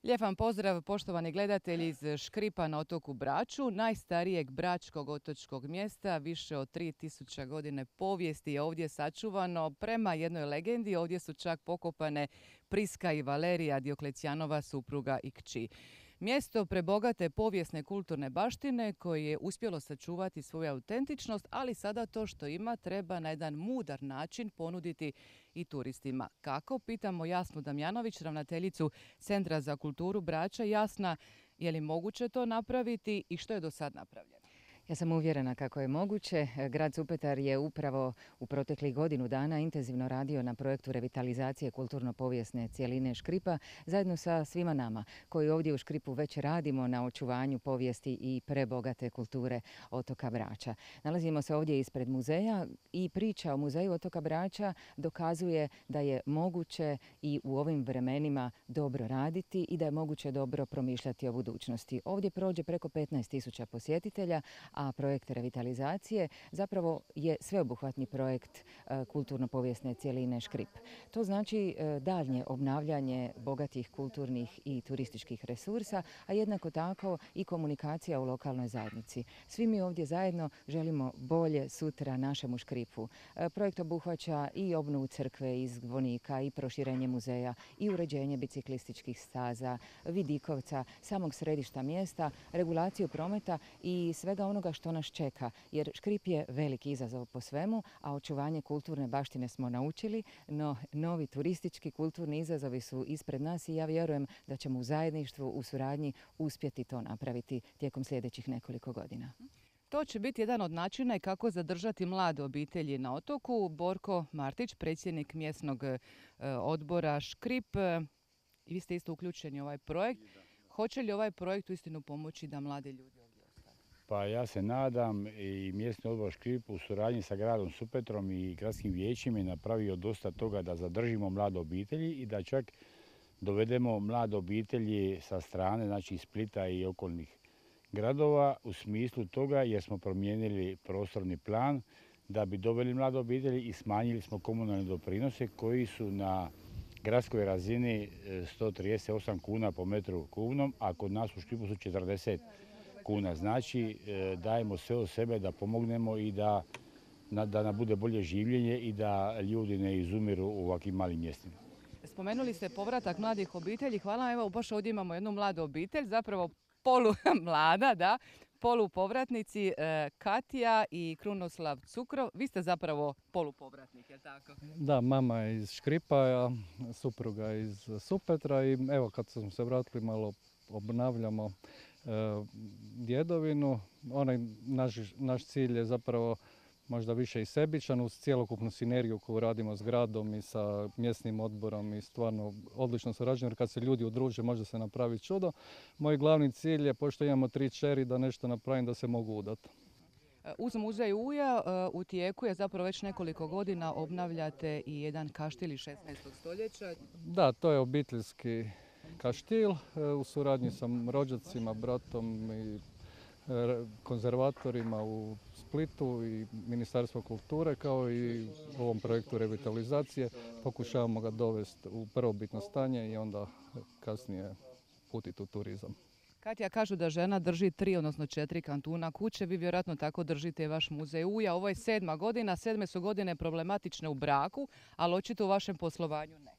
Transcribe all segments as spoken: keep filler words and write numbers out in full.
Lijep vam pozdrav, poštovani gledatelji iz Škripa na otoku Braču, najstarijeg bračkog otočkog mjesta, više od tri tisuće godine povijesti je ovdje sačuvano. Prema jednoj legendi ovdje su čak pokopane Priska i Valerija, Dioklecijanova supruga i kći. Mjesto prebogate povijesne kulturne baštine koje je uspjelo sačuvati svoju autentičnost, ali sada to što ima treba na jedan mudar način ponuditi i turistima. Kako? Pitamo Jasnu Damjanović, ravnateljicu Centra za kulturu Brača. Jasna, je li moguće to napraviti i što je do sad napravljeno? Ja sam uvjerena kako je moguće. Grad Supetar je upravo u proteklih godinu dana intenzivno radio na projektu revitalizacije kulturno-povijesne cjeline Škripa zajedno sa svima nama koji ovdje u Škripu već radimo na očuvanju povijesti i prebogate kulture otoka Brača. Nalazimo se ovdje ispred muzeja i priča o muzeju otoka Brača dokazuje da je moguće i u ovim vremenima dobro raditi i da je moguće dobro promišljati o budućnosti. Ovdje prođe preko petnaest tisuća posjetitelja, a projekt revitalizacije zapravo je sveobuhvatni projekt kulturno-povijesne cjeline Škrip. To znači daljnje obnavljanje bogatih kulturnih i turističkih resursa, a jednako tako i komunikacija u lokalnoj zajednici. Svi mi ovdje zajedno želimo bolje sutra našemu Škripu. Projekt obuhvaća i obnovu crkve iz zvonika i proširenje muzeja i uređenje biciklističkih staza, vidikovca, samog središta mjesta, regulaciju prometa i svega onoga što nas čeka, jer Škrip je veliki izazov po svemu, a očuvanje kulturne baštine smo naučili, no novi turistički kulturni izazovi su ispred nas i ja vjerujem da ćemo u zajedništvu, u suradnji uspjeti to napraviti tijekom sljedećih nekoliko godina. To će biti jedan od načina i kako zadržati mlade obitelji na otoku. Borko Martić, predsjednik mjesnog odbora Škrip, i vi ste isto uključeni u ovaj projekt. Hoće li ovaj projekt uistinu pomoći da mladi ljudi ovdje ostanu? Pa ja se nadam, i mjesni odbor Škrip u suradnji sa gradom Supetrom i gradskim vijećima je napravio dosta toga da zadržimo mlade obitelji i da čak dovedemo mlade obitelji sa strane, znači iz Splita i okolnih gradova u smislu toga jer smo promijenili prostorni plan da bi doveli mlade obitelji i smanjili smo komunalne doprinose koji su na gradskoj razini sto trideset osam kuna po metru kubnom, a kod nas u Škripu su četrdeset kuna. Znači dajemo sve od sebe da pomognemo i da, da nam bude bolje življenje i da ljudi ne izumiru u ovakvim malim mjestima. Spomenuli ste povratak mladih obitelji. Hvala, evo baš ovdje imamo jednu mladu obitelj, zapravo polu mlada, da, polupovratnici Katja i Krunoslav Cukrov. Vi ste zapravo polupovratnik, je li tako? Da, mama je iz Škripa, a supruga iz Supetra i evo kad smo se vratili malo obnavljamo e, djedovinu. Onaj naš, naš cilj je zapravo možda više i sebičan uz cjelokupnu sinergiju koju radimo s gradom i sa mjesnim odborom i stvarno odlično surađujemo jer kad se ljudi udruže može se napraviti čudo. Moj glavni cilj je, pošto imamo tri čeri, da nešto napravim da se mogu udati. Uz muzej Uja u tijeku je zapravo već nekoliko godina obnavljate i jedan kaštil iz šesnaestog stoljeća. Da, to je obiteljski kaštil u suradnji sa rođacima, bratom i konzervatorima u Splitu i Ministarstvo kulture kao i u ovom projektu revitalizacije. Pokušavamo ga dovesti u prvobitno stanje i onda kasnije putiti u turizam. Katja, kažu da žena drži tri, odnosno četiri kantuna kuće. Vi vjerojatno tako držite vaš muzej Uja. Ovo je sedma godina. Sedme su godine problematične u braku, ali očito u vašem poslovanju ne.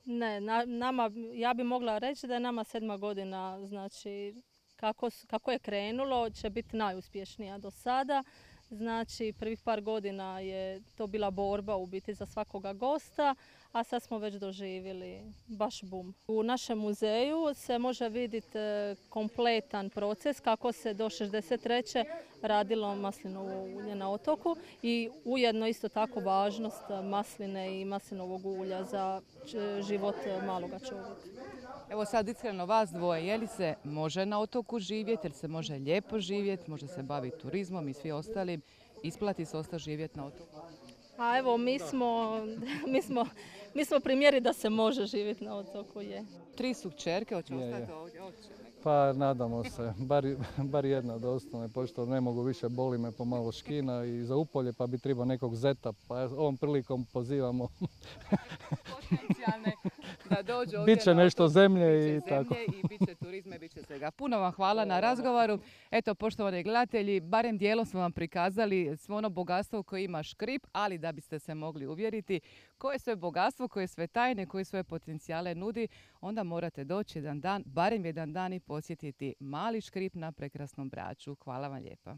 Ne, na, nama, ja bi mogla reći da je nama sedma godina, znači kako, kako je krenulo, će biti najuspješnija do sada. Znači, prvih par godina je to bila borba u biti za svakoga gosta, a sad smo već doživjeli baš bum. U našem muzeju se može vidjeti kompletan proces kako se do šezdeset treće radilo maslinovo ulje na otoku i ujedno isto tako važnost masline i maslinovog ulja za život maloga čovjeka. Evo sad iskreno vas dvoje, je li se može na otoku živjeti, jer se može lijepo živjeti, može se baviti turizmom i svi ostalim, isplati se ostati živjeti na otoku? A evo, mi smo, mi smo, mi smo primjeri da se može živjeti na otoku, je. Tri su kćerke, hoće ostati ovdje? Pa nadamo se, bar, bar jedna da ostane, pošto ne mogu više, boli me pomalo škina i za upolje, pa bi trebao nekog zeta, pa ovom prilikom pozivamo potencijalne da dođu ovdje Biće na nešto otok, zemlje biće i tako. zemlje i bit će turizma i bit će svega. Puno vam hvala na razgovoru. Eto, poštovani gledatelji, barem dijelom smo vam prikazali svo ono bogatstvo koje ima Škrip, ali da biste se mogli uvjeriti koje sve bogatstvo, koje sve tajne, koje sve potencijale nudi, onda morate doći jedan dan, barem jedan dan i posjetiti mali Škrip na prekrasnom Braču. Hvala vam lijepa.